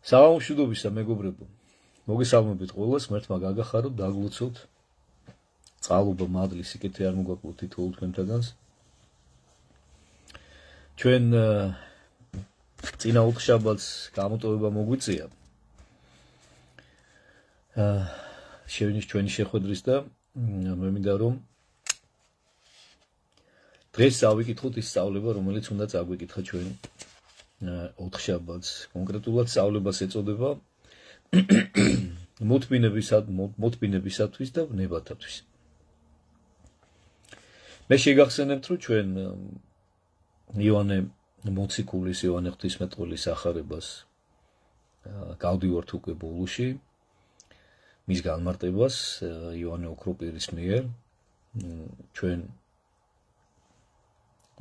საღამოშვიდობისა მეგობრებო, მოგესალმებით ყველას, ღმერთმა გაგახაროთ, დაგლოცოთ. წყალობა მადლი სიკეთე არ მოგვაკლოთ თითოეულ თქვენთაგანს. ჩვენ წინა ოთხშაბათს გამოტოვება მოგვიწია. შევინიშ ჩვენი შეხვედრის და მე მინდა რომ დღეს წავიკითხოთ ის სწავლება, რომელიც უნდა წაგვიკითხა ჩვენ ოთხშაბათს. კონკრეტულად სწავლებას ეწოდება მოთმინებისათვის და ნებათათვის. მე შეგახსენებთ, რომ ჩვენ იოანე მოციქულის, იოანე ღვთისმეტყველის ახარებას გავდივართ უკვე ბოლოში, მის განმარტებას იოანე ოქროპირის მიერ. ჩვენ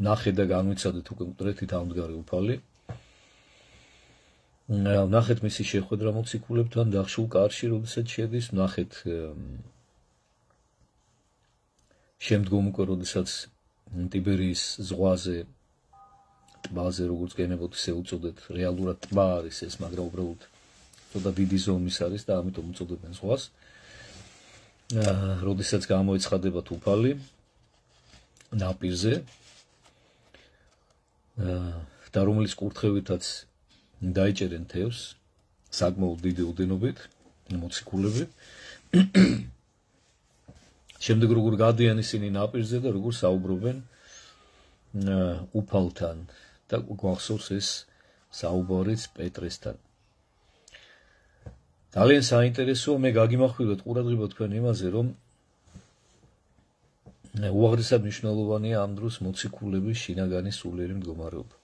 ნახეთ და განვიცადეთ უკვე მკვდრეთით ამდგარი უფალი. ნახეთ მისი შეხვედრა მოციქულებთან დახშულ კარში, როდესაც შედის, ნახეთ შემდგომ უკვე როდესაც ტიბერიის ზღვაზე, ტბაზე, როგორც გენებოთ, ისე უწოდეთ, რეალურად ტბა არის ეს, მაგრამ უბრალოდ ცოტა დიდი ზომის არის და ამიტომ უწოდებენ ზღვას. როდესაც გამოეცხადებათ უფალი ნაპირზე და რომლის კურთხევითაც დაიჭერენ თევზს, საკმაოდ დიდი ოდენობით მოციქულები. შემდეგ როგორ გადიან ისინი ნაპირზე და როგორ საუბრობენ უფალთან და გვახსოვს ეს საუბარიც პეტრესთან. ძალიან საინტერესოა, მე გაგიმახვილოთ ყურადღება თქვენ იმაზე, რომ უაღრესად მნიშვნელოვანია ამ დროს მოციქულების შინაგანი სულიერი მდგომარეობა.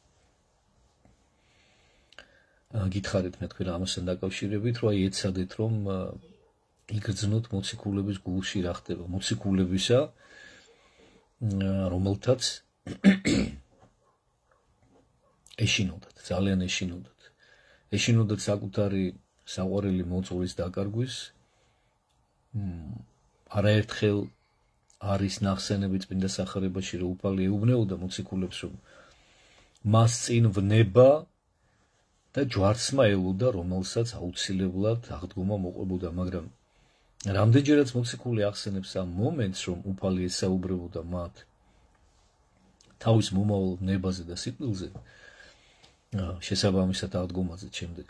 გითხარით მე თქვენ ამასთან დაკავშირებით, რომ ეცადეთ რომ იგრძნოთ მოციქულების გულში რა ხდება, მოციქულებისა, რომელთაც ეშინოდათ, ძალიან ეშინოდათ. ეშინოდათ საკუთარი საყვარელი მოწვევის დაკარგვის. არაერთხელ არის ნახსენები წმინდა სახარებაში, რომ უფალი ეუბნეოდა მოციქულებს, რომ მას წინ ვნება და ჯვარცმა ელოდა, რომელსაც აუცილებლად აღდგომა მოყვებოდა, მაგრამ რამდენჯერაც მოციქული ახსენებს ამ მომენტს, რომ უფალი ესაუბრებოდა მათ თავის მომავალ ნებაზე და სიკვდილზე, შესაბამისად აღდგომაზე შემდეგ.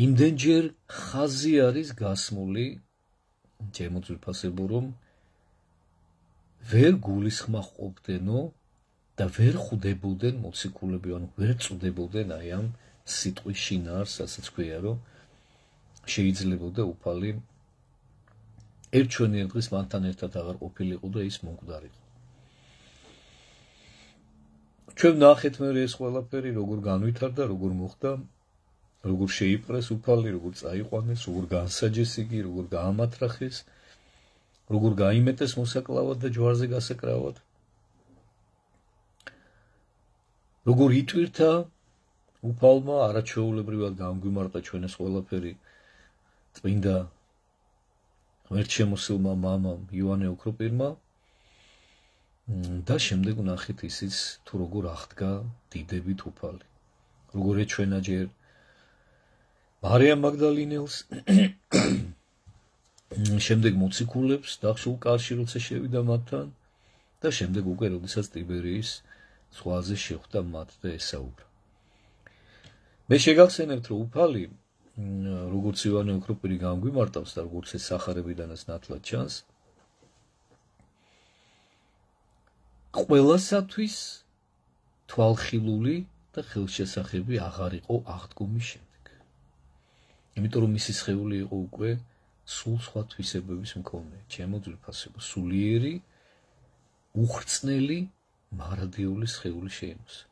იმდენჯერ ხაზი არის გასმული, ჩემო ძვირფასებო, რომ ვერ გულისხმობდენო და ვერ ხვდებოდნენ მოციქულები, ანუ ვერ წვდებოდნენ აი ამ სიტყვის შინაარსს, რასაც ქვია, რომ შეიძლებოდა უფალი ერთჩვენიერ დღეს მათთან ერთად აღარ ყოფილიყო და ის მომკვდარიყო. ჩვენ ნახეთ მე ეს ყველაფერი როგორ განვითარდა, როგორ მოხდა, როგორ შეიპყრეს უფალი, როგორ წაიყვანეს, როგორ განსაჯეს იგი, როგორ გაამათრახეს, როგორ გაიმეტეს მოსაკლავად და ჯვარზე გასაკრავად, როგორ იტვირთა უფალმა, არაჩვეულებრივად გამგვიმარტა ჩვენ ეს ყველაფერი წმინდა ღმერთშემოსილმა მამამ იოანე ოქროპირმა და შემდეგ ნახეთ ისიც თუ როგორ აღდგა დიდებით უფალი, როგორ ეჩვენა ჯერ მარიამ მაგდალინელს, შემდეგ მოციქულებს დახშულ კარში როცა შევიდა მათთან და შემდეგ უკვე როდესაც ტიბერიის ზღვაზე შეხვდა მათ და ესაუბრა. მე შეგახსენებთ, რომ უფალი როგორც იოანე ოქროპირი გამგვიმარტავს და როგორც ეს სახარებიდანაც ნათლად ჩანს, ყველასათვის თვალხილული და ხელშესახები აღარ იყო აღდგომის შემდეგ. იმიტომ რომ მისი სხეული იყო უკვე სულ სხვა თვისებების მქონე, ჩემო ძვირფასებო, სულიერი, უხრწნელი, მარადიული სხეული შეიმოსა.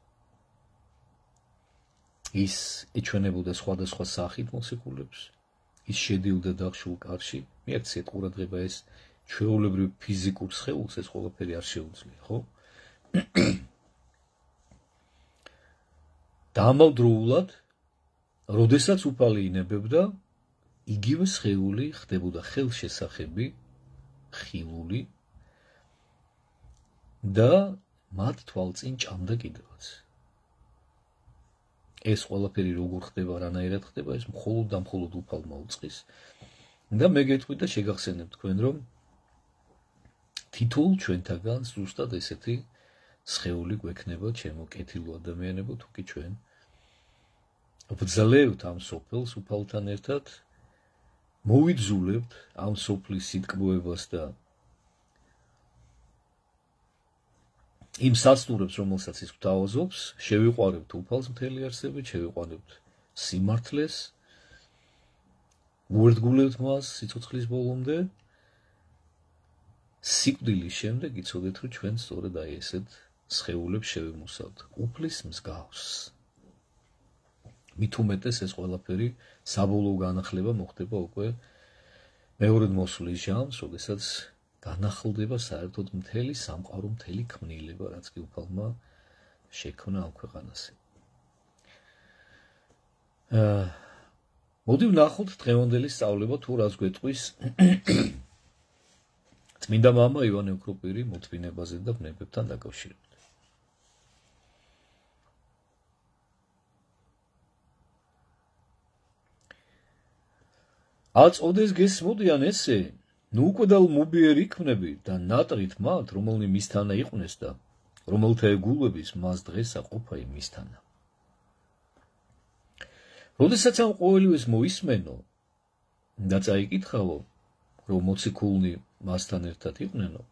ის ეჩვენებოდა სხვადასხვა სახით მოციქულებს, ის შედიოდა დახშულ კარში, მიაქციეთ ყურადღება ეს ჩვეულებრივ ფიზიკურ სხეულს ეს ყველაფერი არ შეუძლია, ხო? და ამავდროულად, როდესაც უფალი ინებებდა, იგივე სხეული ხდებოდა ხელშესახები, ხილული და მათ თვალწინ ჭამდა კიდევაც. ეს ყველაფერი როგორ ხდება, რანაირად ხდება, ეს მხოლოდ და მხოლოდ უფალმა უწყის. და მე გეტყვით და შეგახსენებ თქვენ, რომ თითოეულ ჩვენთაგან ზუსტად ესეთი სხეული გვექნება, ჩემო კეთილო ადამიანებო, თუ კი ჩვენ ვძლევთ ამ სოფელს უფალთან ერთად, მოვიძულებთ ამ სოფლის სიტკბოებას და იმ სასტურებს, რომელსაც ის გვთავაზობს, შევიყვარებთ უფალს მთელი არსებით, შევიყვარებთ სიმართლეს, უერთგულებთ მას სიცოცხლის ბოლომდე, სიკვდილის შემდეგ იცოდეთ, რომ ჩვენ სწორედ აი ესეთ სხეულებს შევიმოსავთ, უფლის მსგავს. მით უმეტეს ეს ყველაფერი საბოლოო განახლება მოხდება უკვე მეორედ მოსვლის ჟამს, როდესაც განახლდება საერთოდ მთელი სამყარო, მთელი ქმნილება, რაც კი უფალმა შექმნა ამ ქვეყანაზე. მოდი ვნახოთ დღევანდელი სწავლება თუ რას გვეტყვის წმინდა მამა ივანე ოქროპირი მოთმინებაზე და ბნებებთან დაკავშირებით. აწოდეს გესმოდიან ესე, ნუ უკვდალ მუბიერ იქმნები და ნატრით მათ, რომელნი მისთანა იყვნენ და რომელთა ეგულების მას დღესა ყოფა იმისთანა. როდესაც ამ ყოველივეს მოისმენო და წაიკითხავო, რომ მოციქულნი მასთან ერთად იყვნენო,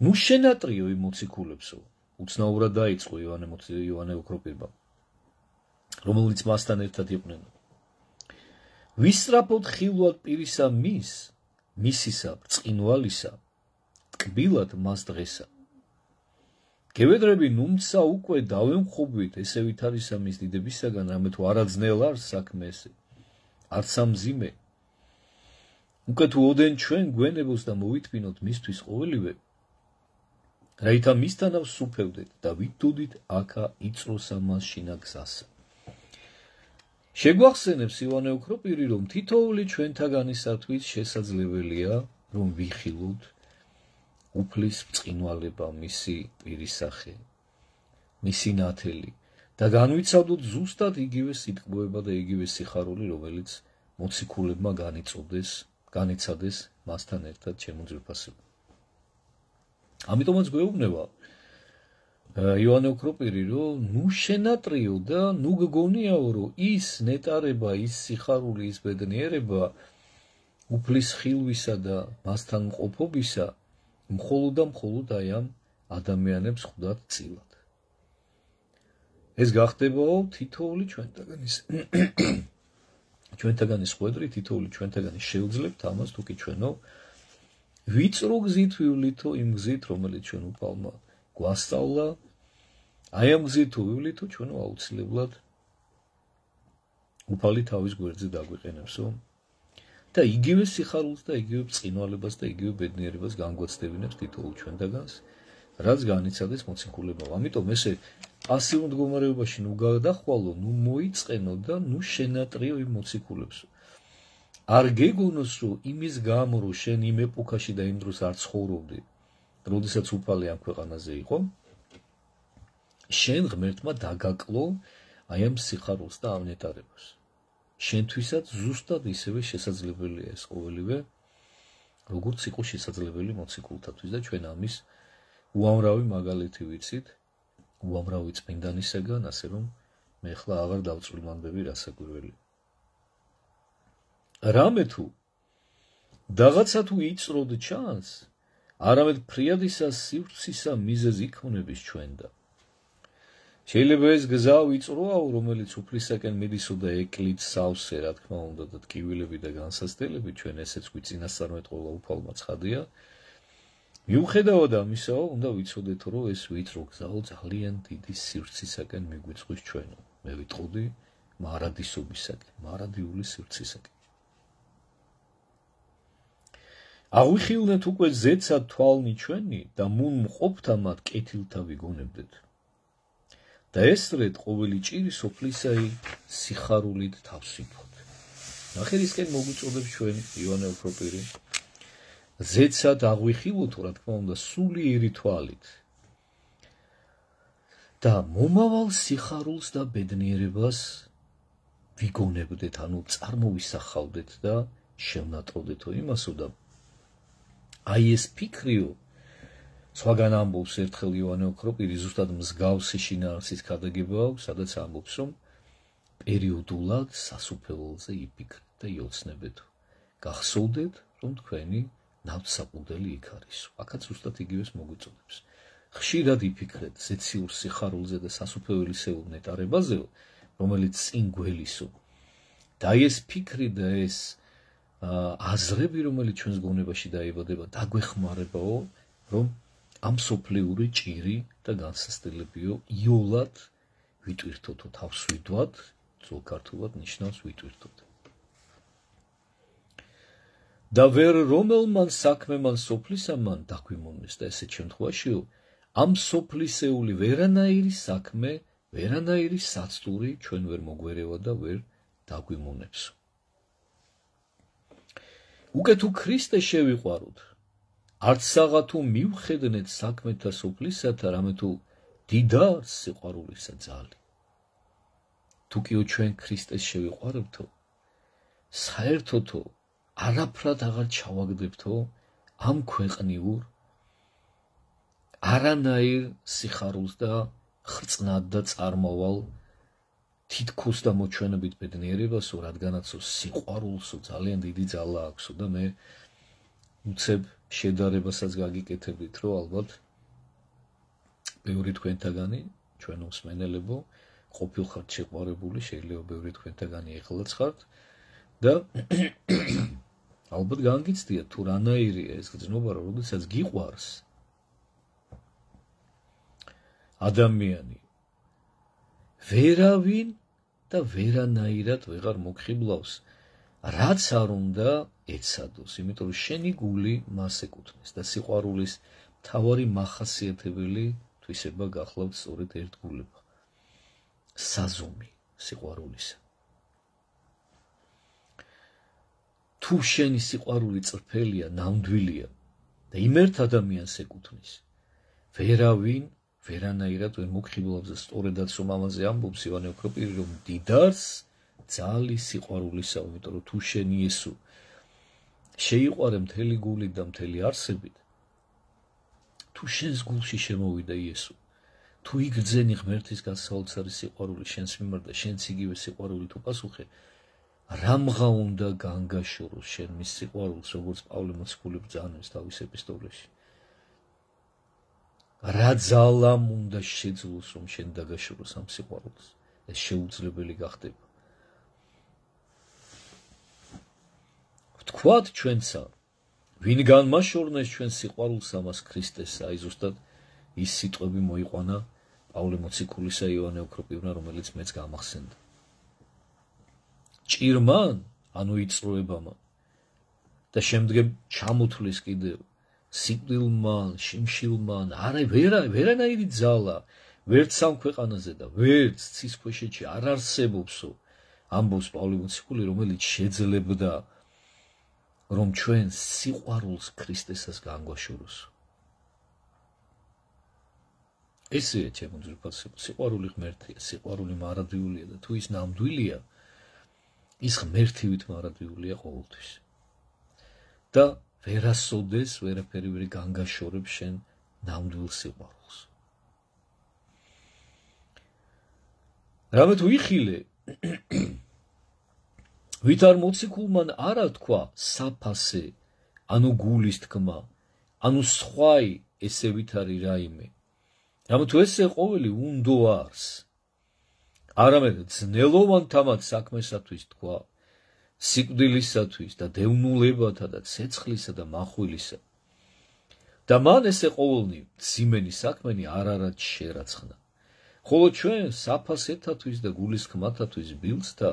ნუ შენატრიო იმ მოციქულებსო, უცნაურად დაიწყო ივანე ოქროპირმა, რომელნიც მასთან ერთად იყვნენო. ვისწრაფოთ ხილვად პირისა მისისა, ბრწყინვალისა, ტკბილად მას დღესა. გევედრები ნუმცა უკვე დავემხობვით, ესე ვით არისა მის დიდებისაგან, რამე თუ არაძნელ არ საქმე ესე, არც ამზიმე. უკვე თუ ოდენ ჩვენ გვენებოს და მოვითმინოთ მისთვის ყოველივე, რაითა მისთანა ვსუფევდეთ და ვიდოდით აქა იწროსა მას შინა გზასა. შეგვახსენებს ივანე ოქროპირი, რომ თითოეული ჩვენთაგანისათვის შესაძლებელია, რომ ვიხილოთ უფლის ბრწყინვალება, მისი პირისახე, მისი ნათელი და განვიცადოთ ზუსტად იგივე სიტყვება და იგივე სიხარული, რომელიც მოციქულებმა განიცადეს მასთან ერთად ჩემო ძვირფასებო. ამიტომაც გვეუბნება ივანე ოქროპირი, რომ ნუ შენატრიო და ნუ გგონიაო, რომ ის ნეტარება, ის სიხარული, ის ბედნიერება უფლის ხილვისა და მასთან მყოფობისა მხოლოდ და მხოლოდ აი ამ ადამიანებს ხვდათ წილად. ეს გახდებაო თითოეული ჩვენთაგანის ხვედრი, თითოეული ჩვენთაგანი შევძლებთ ამას, თუ კი ჩვენო ვიწრო გზით ვივლითო იმ გზით, რომელიც ჩვენ უფალმა გვასწავლა, აი ამ გზით თუ ვივლითო, ჩვენო აუცილებლად უფალი თავის გვერდზე დაგვიყენებსო და იგივე სიხარულს და იგივე ბრწყინვალებას და იგივე ბედნიერებას განგვაცდებინებს თითოეულ ჩვენთაგანს, რაც განიცადეს მოციქულებმა. ამიტომ ესე პასიურ მდგომარეობაში ნუ გადახვალო, ნუ მოიწყენო და ნუ შენატრიო იმ მოციქულებსო. არ გეგონოს, რომ იმის გამო, რომ შენ იმ ეპოქაში და იმ დროს არ ცხოვრობდი, როდესაც უფალი ამ ქვეყანაზე იყო, შენ ღმერთმა დაგაკლო აი ამ სიხარულს და ამ ნეტარებას. შენთვისაც ზუსტად ისევე შესაძლებელია ეს ყოველივე, როგორც იყო შესაძლებელი მოციქულთათვის და ჩვენ ამის უამრავი მაგალითი ვიცით, უამრავი წმინდანისაგან, ასე რომ მე ახლა აღარ დავწვრილმანდები რასაკვირველი. რამე თუ რაღაცა თუ იწროდ ჩანს, არამედ ფრიადისა სივრცისა მიზეზი იქმნების ჩვენ და შეიძლება ეს გზა ვიწროაო, რომელიც უფლისაკენ მიდისო და ეკლით სავსე, რა თქმა უნდა, და ტკივილები და განსასწრებელი, ჩვენ ესეც გვიწინასწარმეტყველა უფალმა ცხადია. მიუხედავად ამისაო, უნდა ვიცოდეთ, რომ ეს ვიწრო გზაო ძალიან დიდი სივრცისაკენ მიგვიწყვის ჩვენო. მე ვიტყოდი მარადისობისაკენ, მარადიული სივრცისაკენ. აღვიხილნეთ უკვე ზეცა თვალნი ჩვენი და მუნ მყოფთა მათ კეთილთა ვიგონებდეთ. და ესრეთ ყოველი ჭირი სოფლისაი სიხარულით თავს ვიფოთ. ნახერისკენ მოგვიწოდებს ჩვენ ივანე ოქროპირი. ზეცად აღვიხილოთ, რა თქმა უნდა, სულიერი თვალით. და მომავალ სიხარულს და ბედნიერებას ვიგონებდეთ, ანუ წარმოვისახავდეთ და შევნატროდეთო იმასო და აი ეს ფიქრიო სხვაგან ამბობს ერთხელ იოანე ოქროპირი ზუსტად მსგავსი შინაარსის ქადაგება აქვს, სადაც ამბობს, რომ პერიოდულად სასუფეველზე იფიქრეთ და იოცნებეთო. გახსოვდეთ, რომ თქვენი ნავთსაყუდელი იქ არის. აქაც ზუსტად იგივეს მოგვიწოდებს. ხშირად იფიქრეთ ზეციურ სიხარულზე და სასუფეველისეულ ნეტარებაზეო, რომელიც წინ გველისო. და ეს ფიქრი და ეს აზრები, რომელიც ჩვენს გონებაში დაიბადება, დაგვეხმარებაო, რომ ამ სოფლიური ჭირი და განსასწრებიო იოლად ვიტვირთოთო, თავს ვიდვათ, ძველ ქართულად ნიშნავს ვიტვირთოთ. და ვერ რომელმან საქმემან სოფლისამან დაგვიმონეს და ესეთ შემთხვევაშიო, ამ სოფლისეული ვერანაირი საქმე, ვერანაირი საცდური ჩვენ ვერ მოგვერევა და ვერ დაგვიმონებს. უკვე თუ ქრისტე შევიყვაროთ, არც საღათუ მივხედნეთ საქმეთა სოფლისათა, რამე თუ დიდარს სიყვარულისა ძალი. თუკიო ჩვენ ქრისტეს შევიყვარებთო, საერთოთო არაფრად აღარ ჩავაგდებთო ამ ქვეყნიურ არანაირ სიხარულს და ხრწნად და წარმავალ თითქოს და მოჩვენებით ბედნიერებასო, რადგანაცო სიყვარულსო ძალიან დიდი ძალა აქვსო და მე უცებ შედარებასაც გაგიკეთებით, რომ ალბათ ბევრი თქვენთაგანი, ჩვენ მსმენელებო, ყოფილხართ შეყვარებული, შეიძლება ბევრი თქვენთაგანი ეხლაც ხართ და ალბათ განგიცდიათ თუ რანაირია ეს გრძნობა, როდესაც გიყვარს ადამიანი ვერავინ და ვერანაირად ვეღარ მოგხიბლავს, რაც არ უნდა ეცადოს, იმიტომ რომ შენი გული მას ეკუთვნის და სიყვარულის მთავარი მახასიათებელი თვისება გახლავთ სწორედ ერთგულება, საზომი სიყვარულისა. თუ შენი სიყვარული წრფელია, ნამდვილია და იმ ერთ ადამიანს ეკუთვნის, ვერავინ ვერანაირად ვერ მოგხიბლავს და სწორედაც რომ ამაზე ამბობს იოანე ოქროპირი, რომ დიდარს ძალი სიყვარულისა, იმიტომ რომ თუ შენ იესო შეიყვარე მთელი გულით და მთელი არსებით, თუ შენს გულში შემოვიდა იესო, თუ იგრძენი ღმერთის გასაოცარი სიყვარული შენს მიმართ და შენც იგივე სიყვარულით უპასუხე, რამღა უნდა განგაშოროს შენ მის სიყვარულს, როგორც პავლე მოციქული ბრძანებს თავის ეპისტოლეში. რა ძალამ უნდა შეძლოს, რომ შენ დაგაშოროს ამ სიყვარულს, ეს შეუძლებელი გახდება. ვთქვათ ჩვენსა, ვინ განმაშორნეს ჩვენ სიყვარულს ამას ქრისტესა, აი ზუსტად ის სიტყვები მოიყვანა პავლე მოციქულისა იოანე ოქროპირმა, რომელიც მეც გამახსენდა. ჭირმან, ანუ იწროებამა და შემდგომ ჩამოთვლის კიდევ სიკვდილმან, შიმშილმან, არა ვერანაირი ძალა, ვერც ამ ქვეყანაზე და ვერც ცის ქვეშეთში არ არსებობსო, ამბობს პავლე მოციქული, რომელიც შეძლებდა, რომ ჩვენ სიყვარულს ქრისტესას განგვაშოროს. ესეა ჩემო ძვირფასებო, სიყვარული ღმერთია, სიყვარული მარადიულია და თუ ის ნამდვილია, ის ღმერთივით მარადიულია ყოველთვის. და ვერასოდეს ვერაფერი ვერ განგაშორებს შენ ნამდვილ სიყვარულს. რამე თუ იხილე, ვით არ მოციქულმან არა თქვა საფასე, ანუ გულის თქმა, ანუ სხვაი ესე ვით არის რაიმე. რამე თუ ესე ყოველი უნდო არს, არამედ ძნელოვანთამაც საქმესათვის თქვა, სიკვდილისათვის და დევნულებათა და ცეცხლისა და מחვილისა. და მან ესე ყოველნი მძიმენი საქმენი არ არად შერაცხნა. ხოლო ჩვენ საფასეთათვის და გულის თქმათათვის ბილწთა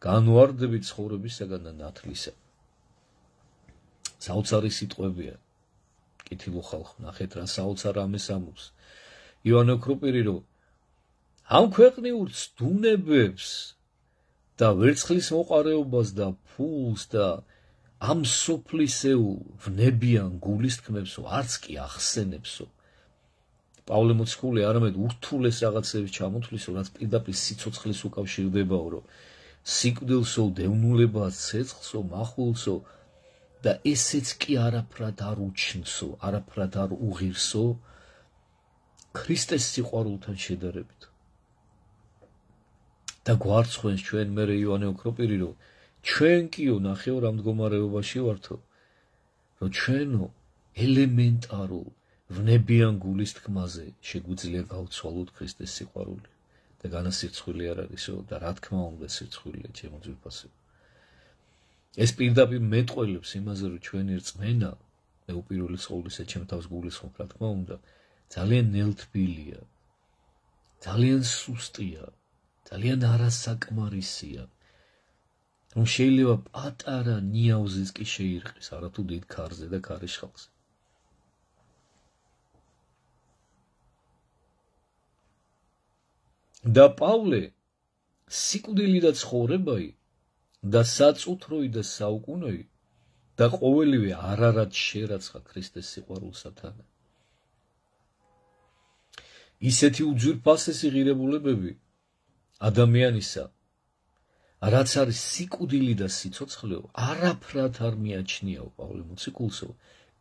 განვარდებით ცხოვრებისაგან და ნათლისა. საოცარი სიტყვებია. კითხილო ხალხო, ნახეთ რა საოცარ ამეს ამბობს. იოანე ოქროპირი, რომ ამ ქვეყნიურ ცდუნებებს და ვერცხლის მოყარეობას და ფულს და ამ სოფლისეულ ვნებიან გულის თქმებსო არც კი ახსენებსო. პავლე მოციქული არამედ ურთულეს რაღაცების ჩამოთვლისო, რაც პირდაპირ სიცოცხლეს უკავშირდებაო, რომ სიკვდილსო, დევნულებას, ცეცხლსო, მახულსო და ესეც კი არაფრად არ უჩნსო, არაფრად არ უღირსო ქრისტეს სიყვარულთან შედარებით. და გვარცხვენს ჩვენ მერე იოანე ოქროპირი, რომ ჩვენ კიო ნახევრ ამ მდგომარეობაში ვართო, რომ ჩვენო ელემენტარულ ვნებიან გულის თქმაზე შეგვიძლია გავცვალოთ ქრისტეს სიყვარული და განასირცხვილი არ არისო და რა თქმა უნდა სირცხვილია ჩემო ძვირფასო. ეს პირდაპირ მეტყველებს იმაზე, რომ ჩვენი რწმენა, მე უპირველეს ყოვლისა ჩემ თავს გულისხმობ, რა თქმა უნდა, ძალიან ნელთბილია, ძალიან სუსტია, ძალიან არასაკმარისია, რომ შეიძლება პატარა ნიავზეც კი შეირყის, არათუ დიდ ქარზე და ქარიშხალზე. და პავლე სიკვდილი და ცხოვრებայի და საწუთროი და საუკუნოი და ყოველივე არარად შერაცხა ქრისტეს სიყვარულსათან. ისეთი უძვირფასესი ღირებულებები ადამიანისა, რაც არის სიკვდილი და სიცოცხლეო, არაფრად არ მიაჩნიაო პავლე მოციქულსო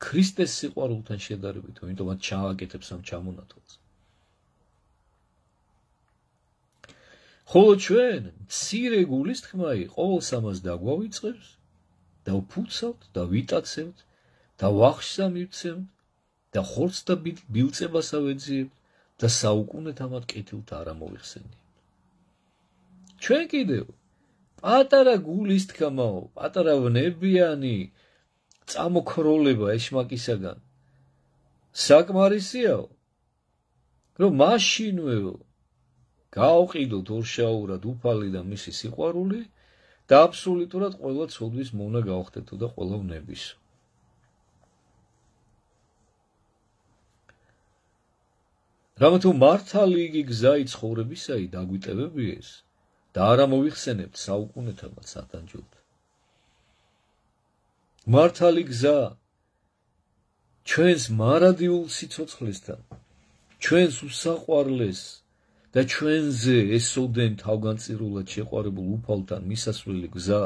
ქრისტეს სიყვარულთან შედარებით, ამიტომაც ჩააკეთებს ამ ჩამონათვალს. ხოლო ჩვენ მცირე გულის თქმაი ყოველს ამას დაგვავიწყებს და ვფუცავთ და ვიტაცებთ და ვახშს ამივცემთ და ხორცს და ბილწებას ავეძიებთ და საუკუნეთ ამად კეთილთ არ ამოვიხსენიებთ. ჩვენ კიდევ პატარა გულის თქმაო, პატარა ვნებიანი წამოქროლება ეშმაკისაგან საკმარისიაო, რომ მაშინვეო გაუყიდოთ ორშაურად უფალი და მისი სიყვარული და აბსოლუტურად ყველა ცოდვის მონა გავხდეთო და ყველა ვნებისო. რამეთუ მართალი იგი გზაი ცხოვრებისაი დაგვიტევებიეს და არ ამოვიხსენებთ საუკუნეთამაც სათანჯოდ. მართალი გზა ჩვენს მარადიულ სიცოცხლესთან, ჩვენს უსაყვარლეს და ჩვენზე ესოდენ თავგანწირულად შეყვარებულ უფალთან მისასვლელი გზა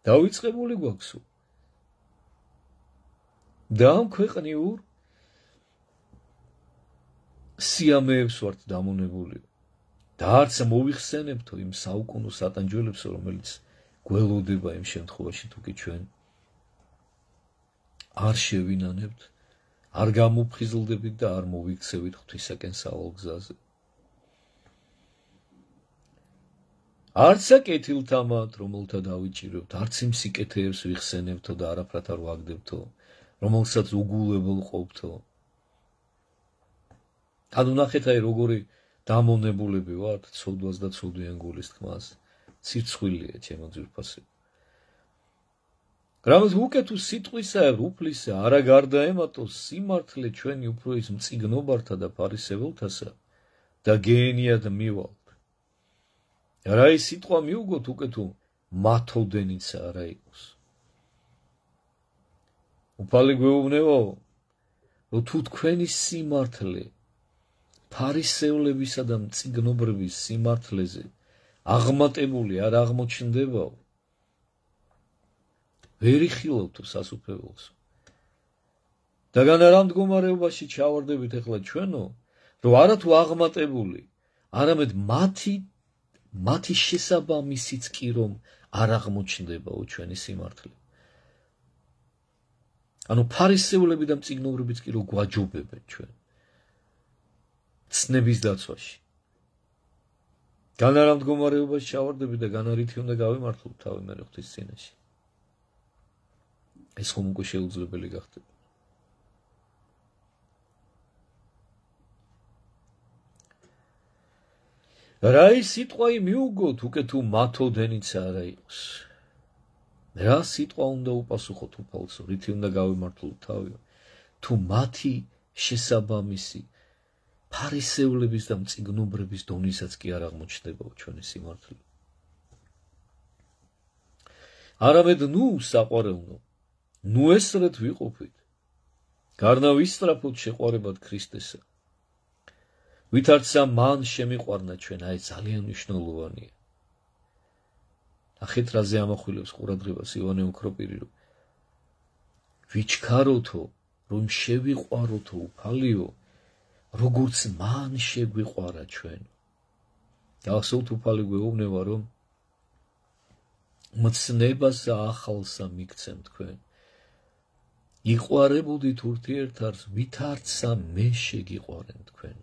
დავიწყებული გვაქვსო. და ამ ქვეყნიურ სიამეებს ვართ დამონებული და არც მოვიხსენებთო იმ საუკუნო სატანჯველებსო, რომელიც გველოდება იმ შემთხვევაში თუ კი ჩვენ არ შევინანებთ, არ გამოფხიზლდებით და არ მოვიქცევით ღვთისაკენ სავალ გზაზე. არც აკეთილთამად, რომელთა დავიჭირებთ, არც იმ სიკეთეებს ვიხსენებთო და არაფრად არ ვაგდებთო, რომელსაც უგულებელ ყოფთო. ანუ ნახეთ აი როგორი დამონებულები ვართ ცოდვას და ცოდვიან გულის თქმას. სირცხვილია ჩემო ძვირფასო. რამაც უკეთო სიტყვისა უფლისა არა გარდაემატოს სიმართლე ჩვენი უფრო ის მწიგნობართა და ფარისეველთასა და გეენიად მივალთ. რა ის სიტყვა მიუგოთ უკეთო მათოდენიცა არა იყოს. უფალი გვეუბნებაო, რომ თუ თქვენი სიმართლე ფარისევლებისა და მწიგნობრების სიმართლეზე აღმატებული არ აღმოჩნდებაო, ვერ იხილავთო სასუფეველს. და განა რა მდგომარეობაში ჩავარდებით ახლა ჩვენო, რომ არათუ აღმატებული, არამედ მათი შესაბამისიც კი რომ არ აღმოჩნდებაო ჩვენი სიმართლე. ანუ ფარისევლები და მწიგნობრებიც კი რომ გვაჯობებენ ჩვენ ცნების დაცვაში. განა რა მდგომარეობაში ჩავარდებით და განა რითი უნდა გავიმართლოთ თავი მე ღვთის წინაშე. ეს ხომ უკვე შეუძლებელი გახდება. რა ის სიტყვა მიუგოთ უკეთო მათოდენიცა არა იყოს. რა სიტყვა უნდა უპასუხოთ უფალსო, რითი უნდა გავიმართლოთ თავი, თუ მათი შესაბამისი ფარისევლების და მწიგნობრების დონისაც კი არ აღმოჩნდება ჩვენი სიმართლე. არამედ ნუ საყვარელნო, ნუ ესრეთ ვიყოფით, გარნა ვისწრაფოთ შეყვარებად ქრისტესა ვითარცა მან შემიყვარნა ჩვენ, აი ძალიან მნიშვნელოვანია. ნახეთ რაზე ამახვილებს ყურადღებას ივანე ოქროპირი, რომ ვიჩქაროთო, რომ შევიყვაროთო უფალიო, როგორც მან შეგვიყვარა ჩვენ. გახსოვთ უფალი გვეუბნება, რომ მცნებასა ახალსა მიგცემ თქვენ. იყვარებოდით ურთიერთარს, ვითარცა მე შეგიყვარენ თქვენ.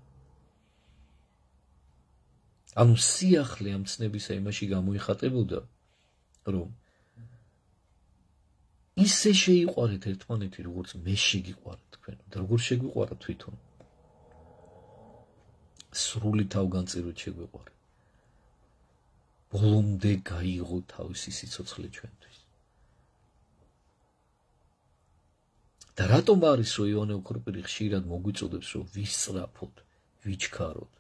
ანუ სიახლე ამ ცნებისა იმაში გამოიხატებოდა, რომ ისე შეიყვარეთ ერთმანეთი, როგორც მე შეგიყვარეთ თქვენ და როგორც შეგვიყვარა თვითონ. სრული თავგანწირვით შეგვიყვარა. ბოლომდე გაიღო თავისი სიცოცხლე ჩვენთვის. და რატომ არის რომ ივანე ოქროპირი ხშირად მოგვიწოდებს რომ ვისწრაფოთ, ვიჩქაროთ?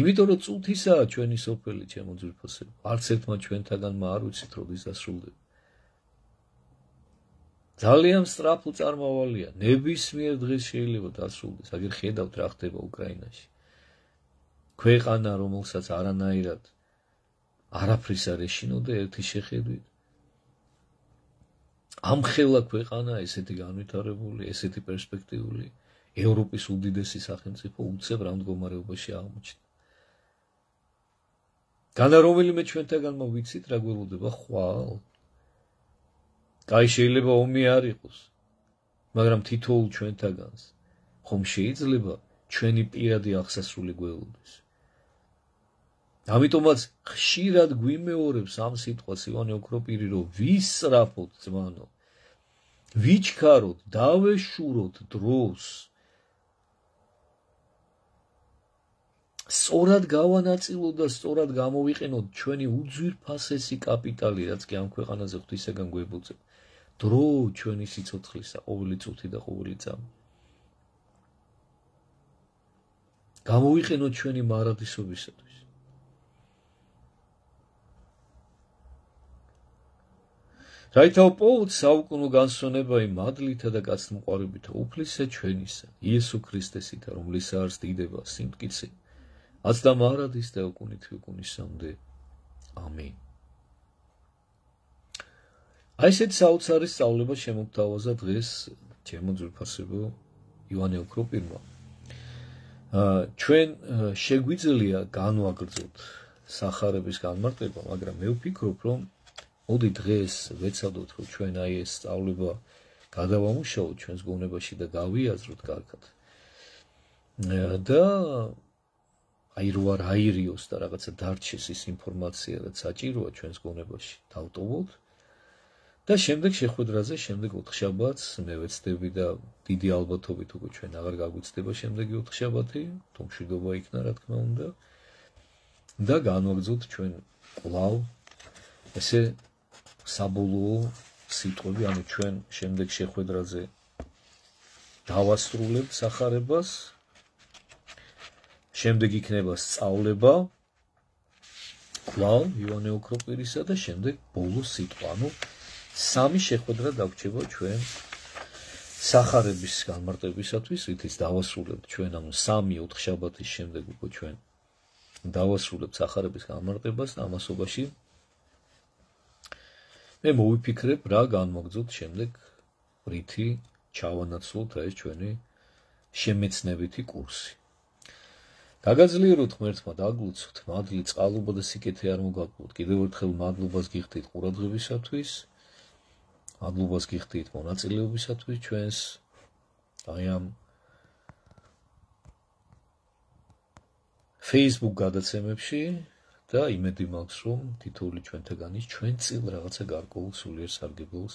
იმიტომ რომ წუთისაა ჩვენი სოფელი, ჩემო ძვირფასებო, არც ერთმა ჩვენთაგანმა არ ვიცით როდის დასრულდება. ძალიან სწრაფო წარმავალია, ნებისმიერ დღეს შეიძლება დასრულდეს, აგერ ხედავთ რა ხდება უკრაინაში. ქვეყანა, რომელსაც არანაირად არაფრის არ ეშინოდა ერთი შეხედვით. ამხელა ქვეყანა, ესეთი განვითარებული, ესეთი პერსპექტიული, ევროპის უდიდესი სახელმწიფო უცებ რა მდგომარეობაში აღმოჩნდა. განა რომელიმე ჩვენთაგანმა ვიცით რა გველოდება ხვალ? კაი შეიძლება ომი არ იყოს, მაგრამ თითოეულ ჩვენთაგანს ხომ შეიძლება ჩვენი პირადი აღსასრული გველოდეს. ამიტომაც ხშირად გვიმეორებს ამ სიტყვას ივანე ოქროპირი, რომ ვისწრაფოთ ძმანო, ვიჩქაროთ, დავეშუროთ დროს. სწორად გავანაწილოთ და სწორად გამოვიყენოთ ჩვენი უძვირფასესი კაპიტალი, რაც კი ამ ქვეყანაზე ღვთისაგან გვებოძებ. დრო ჩვენი სიცოცხლისა, ყოველი წუთი და ყოველი წამი. გამოვიყენოთ ჩვენი მარადისობისათვის. რაითავ პოუთ საუკუნო განსვენება იმ მადლითა და კაცთმოყვარეობითა უფლისა ჩვენისა, იესო ქრისტესითა, რომლისა არს დიდება, სიმტკიცე, აც და მარადის და უკუნით უკუნისამდე. ამინ. აი ესეთი საოცარი სწავლება შემოგთავაზა დღეს ჩემო ძვირფასებო ივანე ოქროპირმა. ჩვენ შეგვიძლია განვაგრძოთ სახარების განმარტება, მაგრამ მე ვფიქრობ, რომ მოდი დღეს ვეცადოთ, რომ ჩვენ აი ეს სწავლება გადავამუშავოთ ჩვენს გონებაში და გავიაზროთ კარგად. და აი რო არ აირიოს და რაღაცა დარჩეს ის ინფორმაცია, რაც საჭიროა ჩვენს გონებაში, დავტოვოთ. და შემდეგ შეხვედრაზე, შემდეგ ოთხშაბათს მე ვეცდები და დიდი ალბათობით უკვე ჩვენ აღარ გაგვიცდება შემდეგი ოთხშაბათი, თუ მშვიდობა იქნა, რა თქმა უნდა. და განვაგრძოთ ჩვენ კვლავ ესე საბოლოო სიტყვები, ანუ ჩვენ შემდეგ შეხვედრაზე დავასრულებთ სახარებას, შემდეგ იქნება სწავლება კვლავ ივანე ოქროპირისა და შემდეგ ბოლო სიტყვა, ანუ სამი შეხვედრა დაგვჭება ჩვენ სახარების განმარტებისათვის, რითიც დავასრულებთ ჩვენ, ანუ 3-4 შაბათის შემდეგ უკვე ჩვენ დავასრულებთ სახარების განმარტებას და ამასობაში მე მოვიფიქრებ რა განმოგძოთ შემდეგ რითი ჩავანაცვლოთ ეს ჩვენი შემეცნებითი კურსი. გაგაძლიეროთ ღმერთმა დაგლოცოთ, მადლი, წყალობა და სიკეთე არ მოგაკლოთ. კიდევ ერთხელ მადლობას გიხდით ყურადღებისათვის, მადლობას გიხდით მონაწილეობისათვის ჩვენს აი ამ Facebook გადაცემებში და იმედი მაქვს, რომ თითოეული ჩვენთაგანის ჩვენ წილ რაღაცა გარკვეულ სულიერ სარგებელს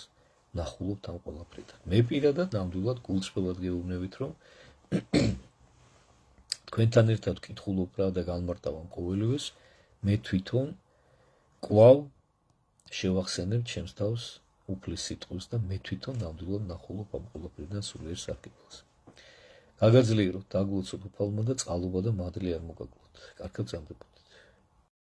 ნახულობთ ამ ყველაფრიდან. მე პირადად ნამდვილად გულწრფელად გეუბნებით, რომ თქვენთან ერთად ვკითხულობ რა და განმარტავ ამ ყოველივეს, მე თვითონ კვლავ შევახსენებ ჩემს თავს უფლის სიტყვის და მე თვითონ ნამდვილად ნახულობ ამ ყველაფრიდან სულიერ სარგებელს. გაგაძლიეროთ, დაგლოცოთ უფალმა და წყალობა და მადლი არ მოგაკლოთ. კარგად გრძანდებოდეთ.